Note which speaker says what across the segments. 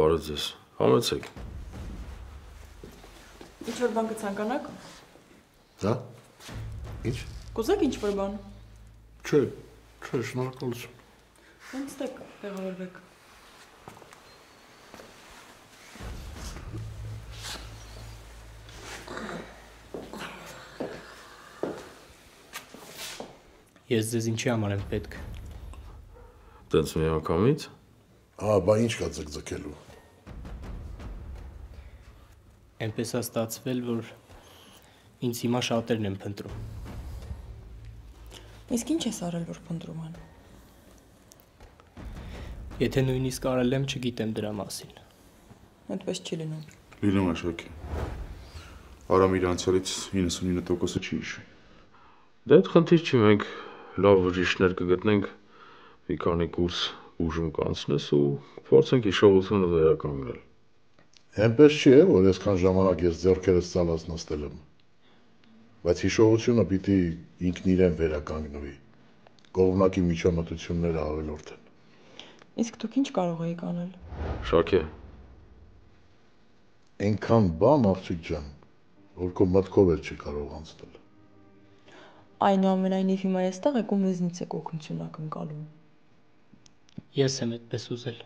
Speaker 1: Բարև ձեզ, համեցեք։
Speaker 2: Ինչ-որ բան կցանկանաք։
Speaker 3: Հա, ինչ։
Speaker 2: Կուզեք ինչ-որ բան։
Speaker 3: Չէ, շնորհակալություն։
Speaker 2: Նստեք, տեղավորվեք։
Speaker 4: Ես ձեզ ինչի համար եմ պետք։
Speaker 1: Տենց մի անգամից։
Speaker 3: Բա ինչ կա ձգձգելու։
Speaker 4: Էնպես է ստացվել, որ ինձ հիմա շատերն են փնտրում։
Speaker 2: Իսկ ինչ ես արել, որ փնտրում են։
Speaker 4: Եթե նույնիսկ արել եմ, չգիտեմ դրա մասին։
Speaker 2: Այդպես չի լինում։
Speaker 5: Լինում է Շակի։ Արամ իր անցյալից 99%-ը չի հիշում։
Speaker 1: Դե այդ խնդիր չի, մենք լավ բժիշկներ կգտնենք, մի քանի կուրս ուժում կանցնես ու փորձենք հիշողությունը վերականգնել։
Speaker 3: Էնպես չի, որ այսքան ժամանակ ես ձեռքերս ցալած նստել եմ։ Բայց հիշողությունը պիտի ինքն իրեն վերականգնվի։ Կողմնակի միջամտությունները ավելորդ են։
Speaker 2: Իսկ դուք ինչ կարող էիք անել։
Speaker 1: Շակե,
Speaker 3: Այնքան բան, աղջիկ ջան, որ քո մտքով էլ չի կարող անցնել։
Speaker 2: Այնուամենայնիվ հիմա այստեղ եք ու մեզնից եք օգնություն ակնկալում։
Speaker 4: Ես եմ այդպես ուզել։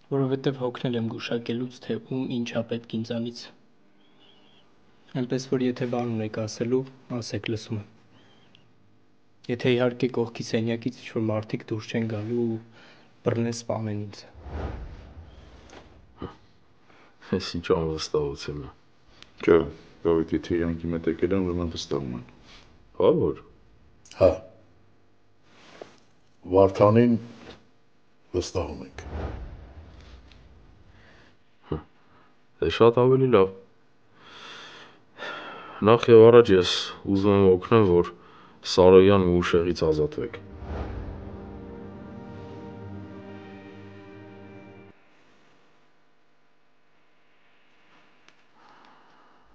Speaker 4: Որովհետև հոգնել եմ գուշակելուց, թե ում ինչա պետք ինձանից։ Այնպես որ եթե բան ունեք ասելու, ասեք, լսում եմ։ Եթե իհարկե կողքի սենյակից ինչ-որ մարդիկ դուրս չեն գալու ու բռնեն սպանեն ինձ։
Speaker 1: ես ինչ անվստահություն է։
Speaker 5: Չէ, Դավիթ, եթե իրանքի մետ եկել են, ուրեմն վստահում են։
Speaker 1: Հա որ։
Speaker 3: Հա։ Վարդանին վստահում ենք։
Speaker 1: Դե շատ ավելի լավ։ Նախ եւ առաջ ես ուզում եմ օգնեմ, որ Սարոյան ու ուշեղից ազատվեք։